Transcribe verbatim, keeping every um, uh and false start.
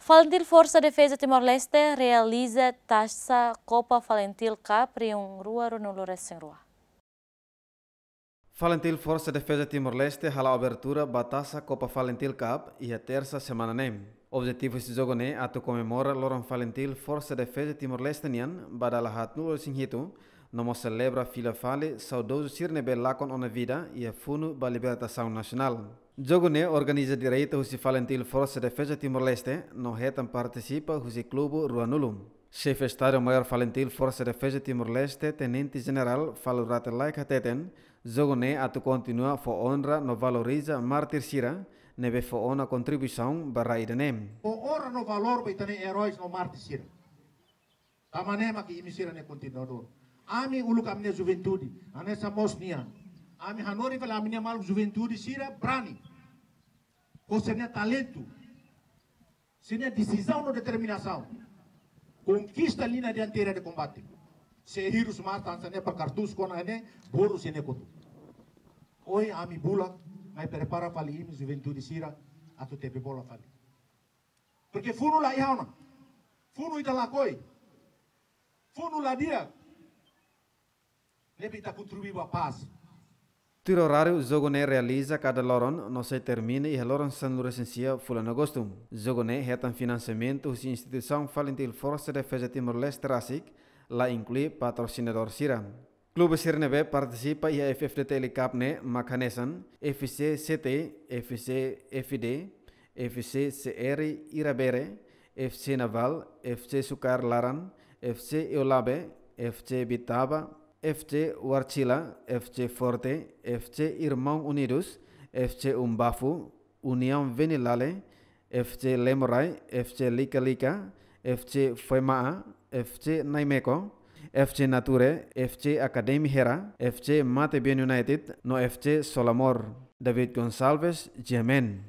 Falintil Forsa Defeza Timor-Leste realiza Taça Copa Falintil Cup rihun rua ruanulu-resin-rua. Falintil Forsa Defeza Timor-Leste hala'o abertura ba Taça Copa Falintil Cup iha tersa semana ne'e. Objetivu husi jogu ne'e atu komemora loron Falintil Forsa Defeza Timor-Leste nian ba dala haatnulu-resin-hitu, no mós selebra fila fali saudozu sira ne'ebé lakon ona vida iha funu ba libertasaun nasionál. Jogu ne'e organiza direta husi Falintil Forsa Defeza Timor-Leste no hetan partisipa husi klube ruanulu. Xefe Estadu-Maiór Falintil Forsa Defeza Timor-Leste, Tenente Jenerál Falur Rate Laek hateten, jogu ne'e atu kontinua fó onra no valoriza mártir sira ne'ebé fó ona kontribuisaun ba rai ida-ne'e. Fó onra no valór ba ita-nia eróis no mártir sira. Tanba ne'e mak imi sira-ne'e kontinuadór. Ami uluk ami-nia juventude, hanesan mós nian. Ami hanorin fali ami-nia maluk juventude sira brani. Ho sira-nia talentu, sira-nia desizaun no determinasaun, konkista liña dianteira de kombate. Sei hirus matan sira-ne'e para kartus kona ne'e, boru sira-ne'e kotu. Ohin ami bulak, mai prepara fali imi juventude sira atu tebe bola fali. Porke funu la iha ona. Funu ita lakohi. Funu la di'ak. Ne'ebé ita kontribui ba pás. Tuir oráriu, jogu ne'e realiza kada loron no sei termina iha loron sanulu-resin-sia fulan Agostu. Jogu ne'e hetan finansiamentu husi instituisaun Falintil Forsa Defeza Timor-Leste rasik, la inklui patrosinadór sira. Klube sira ne'ebé partisipa iha F F D T L Cup ne'e mak hanesan F C C T, F C F D, F C C R Irabere, F C Naval, F C Sukar Laran, F C Eulabe, F C Bitaba, F C Warchila, F C Forte, F C Irmaun Unidus, F C Umbafu, Uniaun Venilale, F C Lemorai, F C Lika Lika, F C Foima'a, F C Naimeko, F C Nature, F C Academy Hera, F C Matebian United, no F C Solamor. David Gonçalves, G M N.